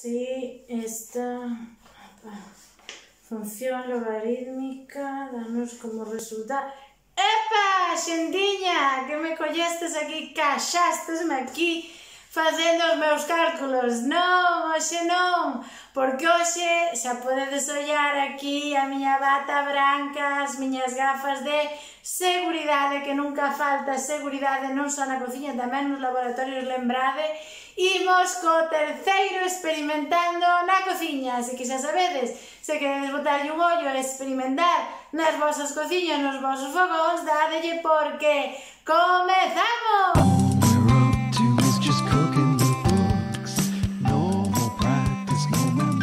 Si esta función logarítmica danos como resultado... Epa, xentiña, que me collestes aquí, caxastesme aquí facendo os meus cálculos. Non, hoxe non, porque hoxe xa podedes ollar aquí a miña bata branca, as miñas gafas de seguridade, que nunca falta seguridade non só na cociña, tamén nos laboratorios, lembrade. Imos co terceiro experimentando na cociña, así que xa sabedes, se queredes botarlle un ollo e experimentar nas vosas cociñas, nos vosos fogóns, dadelle porque comezamos!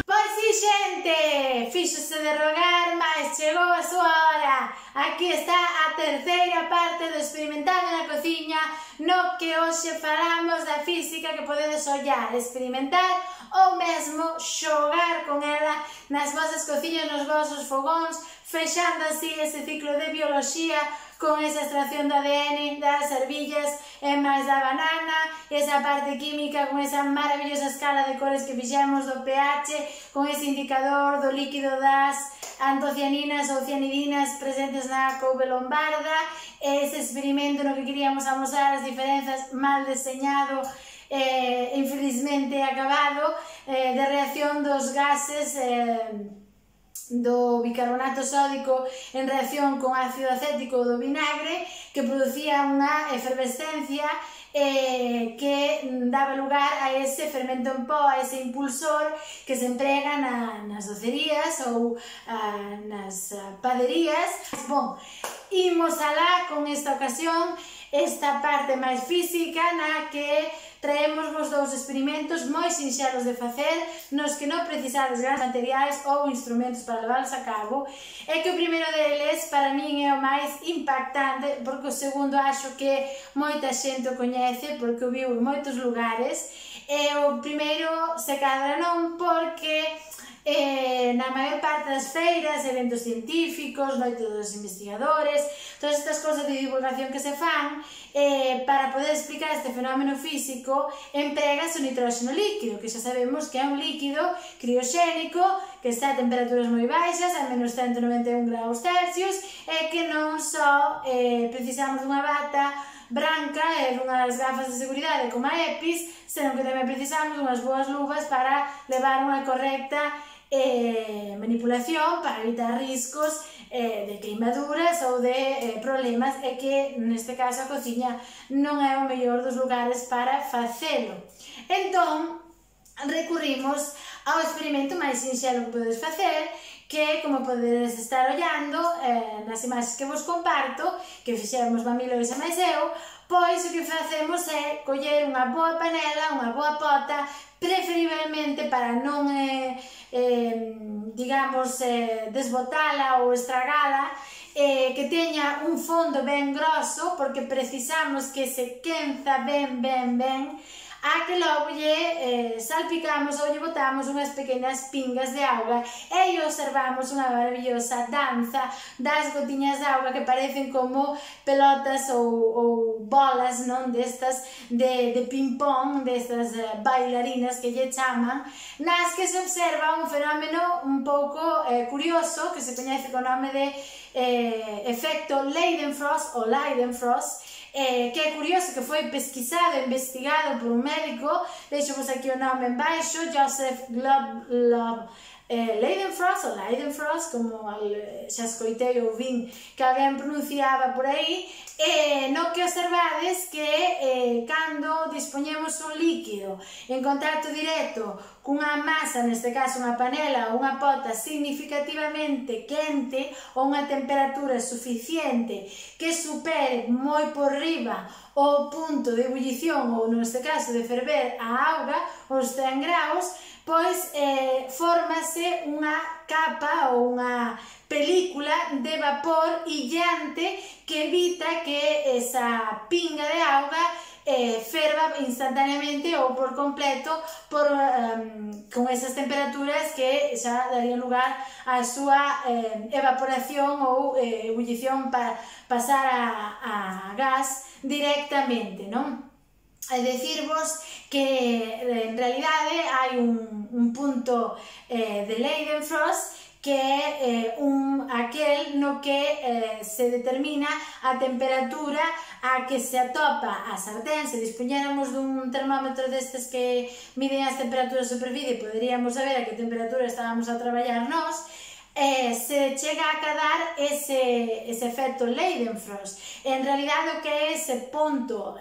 Pois si, xente, fíxose de rogar, mas chegou a súa hora. Aquí está a terceira parte do experimentando na cociña, no que hoxe falamos da física que podedes ollar, experimentar ou mesmo xogar con ela nas vosas cociñas, nos vosos fogóns, fechando así ese ciclo de bioloxía con esa extracción do ADN das ervillas e máis da banana, esa parte química con esa maravillosa escala de cores que fixemos do pH, con ese indicador do líquido das antocianinas ou cianidinas presentes na couve lombarda, ese experimento no que queríamos amosar as diferenzas mal deseñado, infelizmente acabado, de reacción dos gases do bicarbonato sódico en reacción con ácido acético do vinagre, que producía unha efervescencia que daba lugar a ese fermento en pó, a ese impulsor que se emprega nas docerías ou nas paderías. Bon, imos alá con esta ocasión, esta parte máis física na que traemos vos dous experimentos moi sinxelos de facer, nos que non precisades grandes materiais ou instrumentos para leválos a cabo, e que o primeiro deles para min é o máis impactante, porque o segundo acho que moita xente o coñece, porque o viu en moitos lugares, e o primeiro se cadra non, porque na maior parte das feiras, eventos científicos, noites dos investigadores, todas estas cousas de divulgación que se fan, para poder explicar este fenómeno físico, empregas o nitróxeno líquido, que xa sabemos que é un líquido crioxénico, que está a temperaturas moi baixas, a menos 191 graus Celsius, e que non só precisamos dunha bata branca e dunhas gafas de seguridade como a EPIs, senón que tamén precisamos unhas boas luvas para levar unha correcta manipulación para evitar riscos de queimaduras ou de problemas, e que neste caso a cociña non é o mellor dos lugares para facelo. Entón, recurrimos ao experimento máis sinxelo que podedes facer, que, como podedes estar ollando nas imaxes que vos comparto, que fixemos Mamilo e máis eu, pois o que facemos é coller unha boa panela, unha boa pota, preferiblemente para non, digamos, desbotala ou estragala, que teña un fondo ben grosso, porque precisamos que se quenza ben, a que logo lle salpicamos ou lle botamos unhas pequenas pingas de auga e observamos unha maravillosa danza das gotiñas de auga que parecen como pelotas ou bolas, non, destas de ping-pong, destas bailarinas que lle chaman, nas que se observa un fenómeno un pouco curioso que se coñece co nome de efecto Leidenfrost ou Leidenfrost, que é curioso, que foi pesquisado e investigado por un médico, deixo-vos aquí o nome en baixo, Joseph Leidenfrost, como xa escoitei ou vin que alguén pronunciaba por aí, no que observades que cando dispoñemos un líquido en contacto directo cunha masa, neste caso unha panela ou unha pota significativamente quente ou unha temperatura suficiente que supere moi por riba o punto de ebullición ou, neste caso, de ferver a auga, os 100 graus, pois fórmase unha capa ou unha película de vapor illante que evita que esa pinga de auga ferva instantaneamente ou por completo con esas temperaturas que xa darían lugar á súa evaporación ou ebullición para pasar a gas directamente, non? e dicirvos que en realidade hai un punto de Leidenfrost que é aquel no que se determina a temperatura a que se atopa a sartén. Se dispuñéramos dun termómetro destes que miden as temperaturas de superficie, poderíamos saber a que temperatura estábamos a traballar nós. Se chega a acadar ese efecto Leidenfrost. En realidade o que é ese punto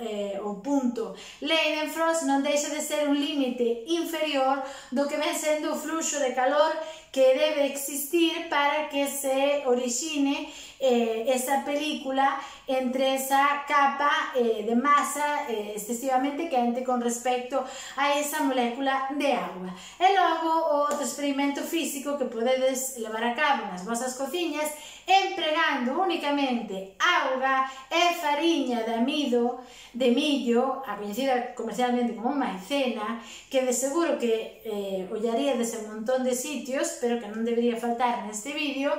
Leidenfrost non deixa de ser un límite inferior do que ven sendo o fluxo de calor que debe existir para que se orixine esa película entre esa capa de masa excesivamente quente con respecto a esa molécula de agua. E logo o outro experimento físico que podedes levar a cabo nas vosas cociñas empregando únicamente auga e fariña de amido de millo, a coñecida comercialmente como maicena, que de seguro que ollaríades en un montón de sitios, pero que non debería faltar neste vídeo,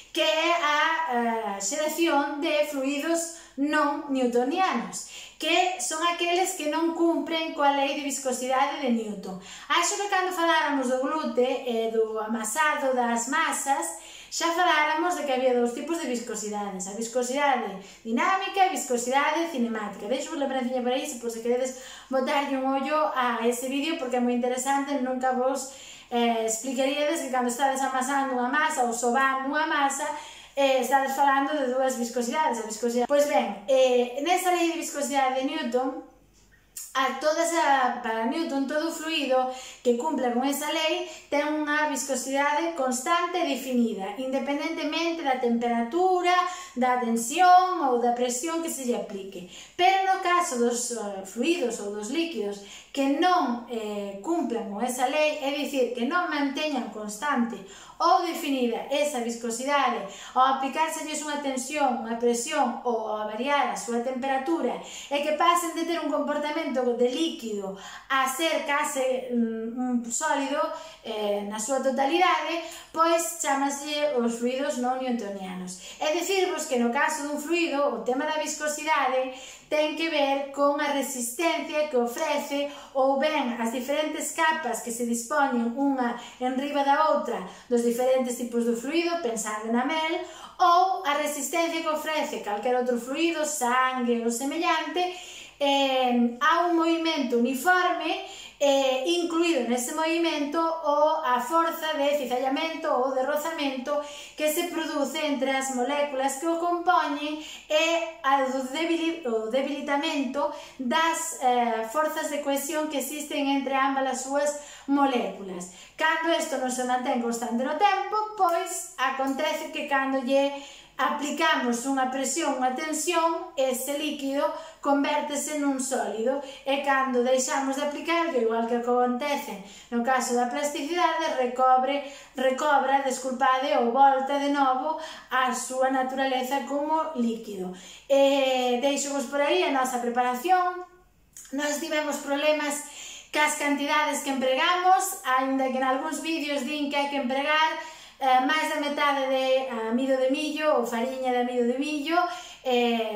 que é a xeración de fluidos non newtonianos, que son aqueles que non cumpren coa lei de viscosidade de Newton. Acho que cando faláramos do glute e do amasado das masas, xa faláramos de que había dous tipos de viscosidades, a viscosidade dinámica e a viscosidade cinemática. Deixo vos lembrancinha por aí, se queredes botarlle un ollo a ese vídeo, porque é moi interesante. Nunca vos explicaríades que cando estades amasando unha masa ou sobando unha masa, estades falando de dúas viscosidades. Pois ben, nesa lei de viscosidade de Newton, para Newton, todo fluido que cumpla con esa lei ten unha viscosidade constante e definida, independentemente da temperatura, da tensión ou da presión que se lle aplique. Pero no caso dos fluidos ou dos líquidos que non cumplan con esa lei, é dicir, que non manteñan constante ou definida esa viscosidade ao aplicárselles unha tensión, unha presión ou a variar a súa temperatura, e que pasen de ter un comportamento de líquido a ser case un sólido na súa totalidade, pois chámase os fluidos non newtonianos. É dicirvos que no caso dun fluido, o tema da viscosidade ten que ver con a resistencia que ofrece ou ben as diferentes capas que se dispoñen unha enriba da outra dos diferentes tipos de fluido, pensando na mel, ou a resistencia que ofrece calquer outro fluido, sangue ou semellante, a un movimento uniforme, incluído nese movimento a forza de cizallamento ou de rozamento que se produce entre as moléculas que o compoñen e o debilitamento das forzas de cohesión que existen entre ambas as súas moléculas. Cando isto non se mantén constante no tempo, pois acontece que cando lle aplicamos unha presión, unha tensión, ese líquido convértese nun sólido, e cando deixamos de aplicar, igual que acontece no caso da plasticidade, recobra, ou volta de novo a súa naturaleza como líquido. Deixo-vos por aí a nosa preparación. Nós tivemos problemas cas cantidades que empregamos, aínda que en algúns vídeos din que hai que empregar máis da metade de amido de millo ou fariña de amido de millo.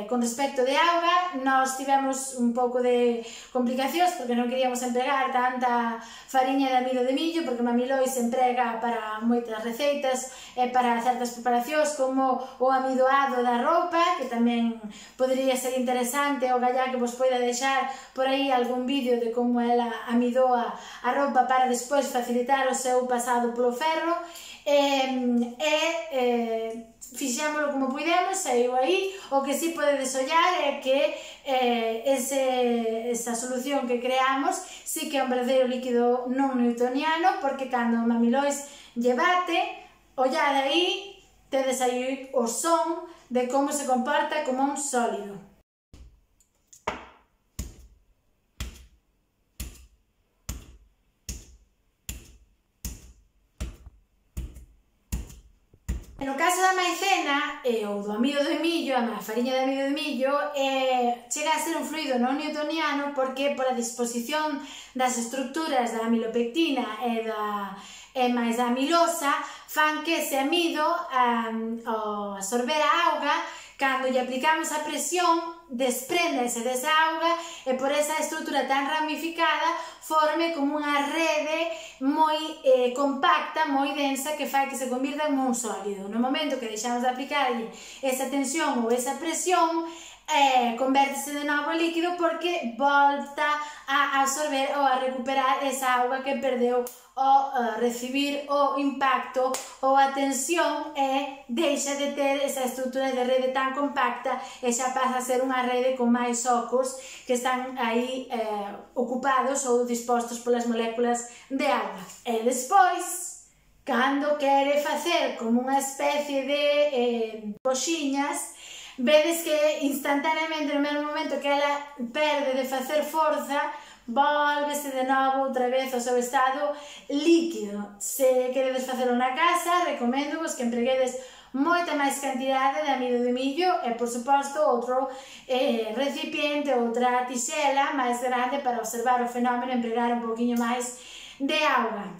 Con respecto de auga, nós tivemos un pouco de complicacións porque non queríamos empregar tanta fariña de amido de millo, porque Mami Lois emprega para moitas receitas e para certas preparacións, como o amidoado da roupa, que tamén podería ser interesante. O gallá que vos poida deixar por aí algún vídeo de como ela amidoa a roupa para despois facilitar o seu pasado polo ferro. Fixámoslo como puidemos, saiu aí. O que si podedes ollar é que esa solución que creamos si que é un verdadeiro líquido non newtoniano, porque cando Mami Lois lle bate, ollade aí, tedes aí o son de como se comporta como un sólido. No caso da maicena ou do amido de millo, a fariña de amido de millo, chega a ser un fluido non newtoniano porque pola disposición das estructuras da amilopectina e máis da amilosa fan que ese amido, ao absorber a auga, cando lle aplicamos a presión, despréndese desa auga e por esa estrutura tan ramificada forme como unha rede moi compacta, moi densa, que fai que se convirta en un sólido. No momento que deixamos de aplicarlle esa tensión ou esa presión, convértese de novo en líquido porque volta a absorber ou a recuperar esa auga que perdeu ao recibir o impacto ou a tensión e deixa de ter esa estrutura de rede tan compacta e xa pasa a ser unha rede con máis ocos que están aí ocupados ou dispostos polas moléculas de auga. E despois, cando quere facer como unha especie de coxiñas, vedes que instantaneamente, no mesmo momento que ela perde de facer forza, volvese de novo outra vez ao seu estado líquido. Se queredes facelo na casa, recomendo-vos que empreguedes moita máis cantidade de amido de millo e, por suposto, outro recipiente, outra tixela máis grande para observar o fenómeno e empregar un poquinho máis de auga.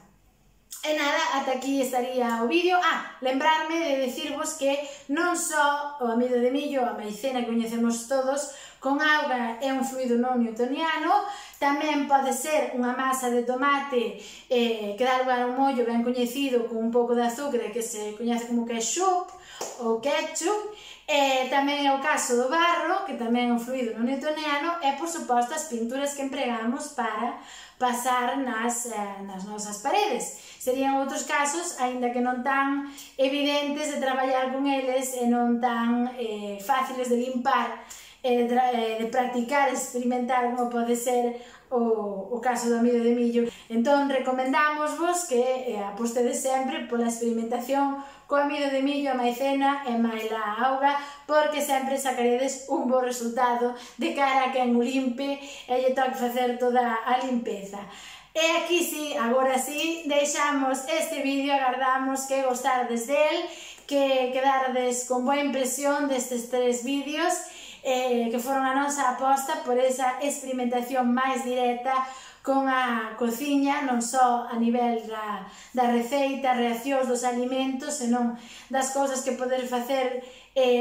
E nada, ata aquí estaría o vídeo. Lembrarme de decirvos que non só o amido de millo, a maicena que coñecemos todos, con auga é un fluido non newtoniano, tamén pode ser unha masa de tomate que dá lugar a un mollo ben coñecido con un pouco de azúcar que se coñece como ketchup ou ketchup, tamén é o caso do barro, que tamén é un fluido non newtoniano, e por suposto as pinturas que empregamos para pasar nas nosas paredes. Serían outros casos, aínda que non tan evidentes de traballar con eles e non tan fáciles de limpar, de practicar, experimentar, como pode ser o caso do amido de millo. Entón, recomendámosvos que apostedes sempre pola experimentación co amido de millo, a maicena e maila a auga, porque sempre sacaredes un bo resultado de cara a quen o limpe e lle toque facer toda a limpeza. E aquí sí, agora sí, deixamos este vídeo, agardamos que gostardes del, que quedardes con boa impresión destes 3 vídeos, que foron a nosa aposta por esa experimentación máis directa con a cociña, non só a nivel da receita, reaccións dos alimentos, senón das cousas que poderes facer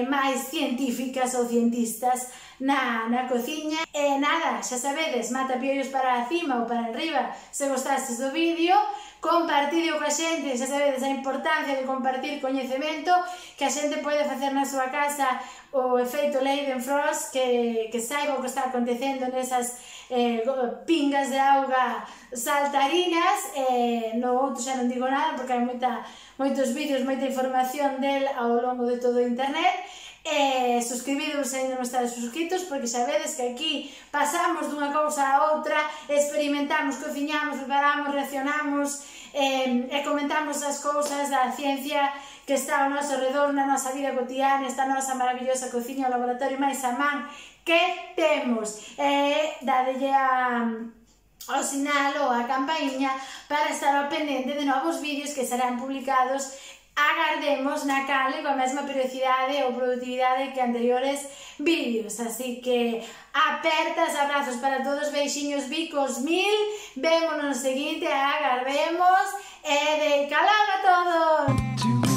máis científicas ou cientistas na cociña. E nada, xa sabedes, mata piollos para cima ou para arriba se gostastes do vídeo, compartideo coa xente, xa sabedes a importancia de compartir coñecemento, que a xente pode facer na súa casa o efeito Leidenfrost, que saiba o que está acontecendo nesas pingas de auga saltarinas. No outro xa non digo nada porque hai moitos vídeos, moita información del ao longo de todo o internet. Suscribidevos se ainda non estades suscritos, porque sabedes que aquí pasamos dunha cousa a outra, experimentamos, cociñamos, preparamos, reaccionamos e comentamos as cousas da ciencia que está ao noso redor na nosa vida cotidiana, esta nosa maravillosa cociña, o laboratorio máis a man que temos. Dadelle ao sinal ou a campainha para estar ao pendente de novos vídeos que serán publicados, agardemos, na canle coa mesma periodicidade ou productividade que anteriores vídeos. Así que apertas, abrazos para todos, beixiños, bicos mil, vémonos no seguinte, agardemos e de calor a todos!